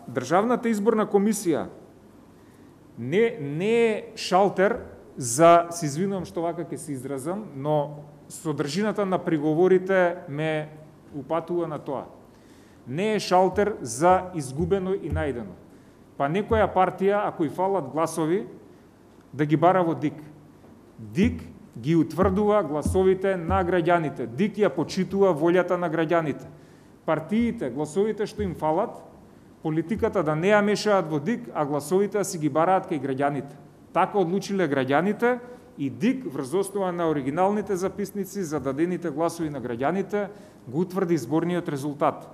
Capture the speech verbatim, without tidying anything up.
Државната изборна комисија не, не е шалтер за, се извинувам што вака ќе се изразам, но содржината на приговорите ме упатува на тоа. Не е шалтер за изгубено и најдено. Па некоја партија, ако и фалат гласови, да ги бара во ДИК. ДИК ги утврдува гласовите на граѓаните. ДИК ја почитува волјата на граѓаните. Партиите, гласовите што им фалат, политиката да не ја мешаат во ДИК, а гласовите да си ги бараат кај граѓаните. Така одлучиле граѓаните и ДИК врз основа на оригиналните записници за дадените гласови на граѓаните го утврди изборниот резултат.